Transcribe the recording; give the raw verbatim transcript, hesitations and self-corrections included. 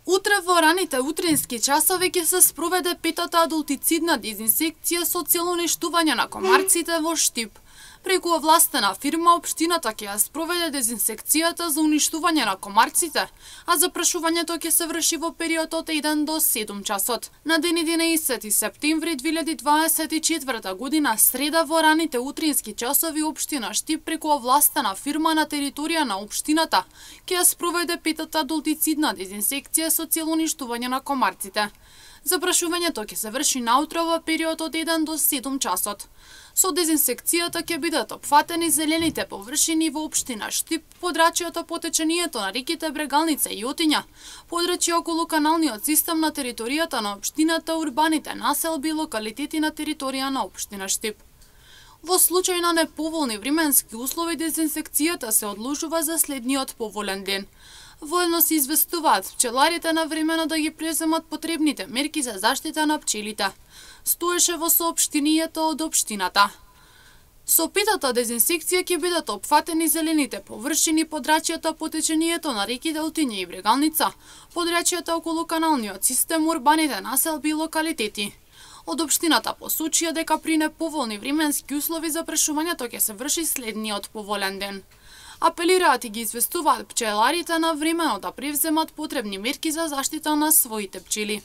Утре во раните утрински часови ќе се спроведе петата адултицидна дезинсекција со цел уништување на комарците во Штип. Преку овластена фирма, општината ќе ја спроведе дезинсекцијата за уништување на комарците, а запрашувањето ќе се врши во период од еден до седум часот. На ден единаесети септември две илјади дваесет и четврта година, среда, во раните утрински часови, општина Штип преку овластена фирма на територија на општината ќе ја спроведе петата адултицидна дезинсекција со цел уништување на комарците. Запрашувањето ќе се врши наутро во период од еден до седум часот. Со дезинсекцијата ќе бидат опфатени зелените површини во општина Штип, подрачјето по течението на реките Брегалница и Јотиња, подрачје околу каналниот систем на територијата на општината, урбаните населби и локалитети на територија на општина Штип. Во случај на неповолни временски услови, дезинсекцијата се одложува за следниот поволен ден. Воено се известуваат пчеларите на времено да ги преземат потребните мерки за заштита на пчелите. Стоеше во соопштението од општината. Со петата дезинсекција ќе бидат опфатени зелените површини, подрачјата по течението на реките Јотиња и Брегалница, подрачјата околу каналниот систем, урбаните населби и локалитети. Од општината посочија дека при неповолни временски услови запрашувањето ќе се врши следниот поволен ден. Апелираат и ги известуваат пчеларите на времено да превземат потребни мерки за заштита на своите пчели.